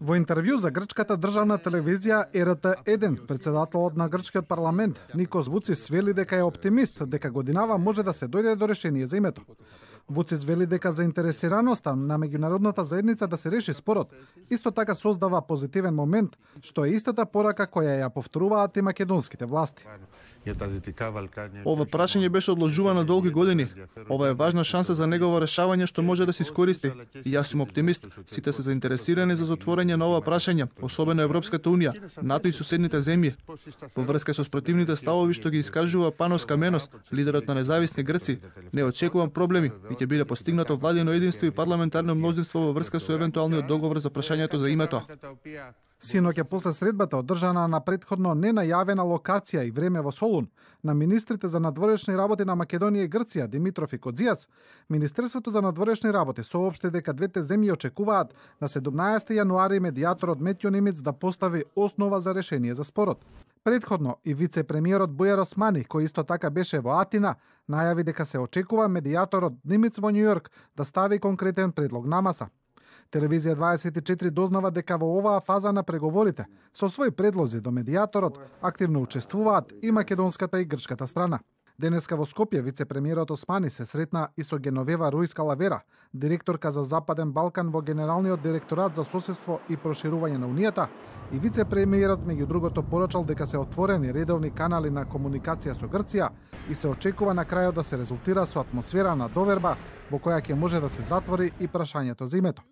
Во интервју за грчката државна телевизија РТ1, председателот на грчкиот парламент Никос Вуцис вели дека е оптимист дека годинава може да се дојде до решение за името. Вуцис вели дека заинтересираноста на меѓународната заедница да се реши спорот исто така создава позитивен момент, што е истата порака која ја повторуваат и македонските власти. Ова прашање беше одложувано долги години. Ова е важна шанса за негово решавање што може да се искористи. И јас сум оптимист. Сите се заинтересирани за затворање на ова прашање, особено Европската унија, НАТО и соседните земји. Во врска со спротивните ставови што ги искажува Панос Каменос, лидерот на независни Грци, не очекувам проблеми и ќе биде постигнато владино единство и парламентарно мнозинство во врска со евентуалниот договор за прашањето за името. Синоќа после средбата одржана на претходно ненајавена локација и време во Солун на министрите за надворешни работи на Македонија и Грција Димитров и Кодзијац, Министерството за надворешни работи соопшти дека двете земји очекуваат на 17 јануари медијаторот Метјо Немец да постави основа за решение за спорот. Предходно и вице-премиерот Бујар Османи, кој исто така беше во Атина, најави дека се очекува медијаторот Немец во Њујорк да стави конкретен предлог на маса. Телевизија 24 дознава дека во оваа фаза на преговорите со своји предлози до медијаторот активно учествуваат и македонската и грчката страна. Денеска во Скопје вице-премиерот Османи се сретна и со Геновева Рујска Лавера, директорка за Западен Балкан во Генералниот директорат за соседство и проширување на Унијата, и вице-премиерот меѓу другото порачал дека се отворени редовни канали на комуникација со Грција и се очекува на крајот да се резултира со атмосфера на доверба во која ќе може да се затвори и прашањето за името.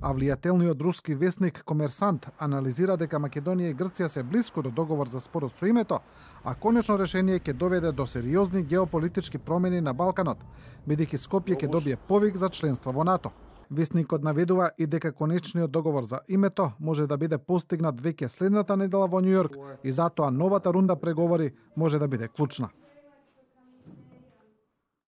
А влијателниот руски весник Комерсант анализира дека Македонија и Грција се блиску до договор за спорот со името, а конечно решение ќе доведе до сериозни геополитички промени на Балканот, бидејќи Скопје ќе добие повик за членство во НАТО. Весникот наведува и дека конечниот договор за името може да биде постигнат веќе следната недела во Њујорк и затоа новата рунда преговори може да биде клучна.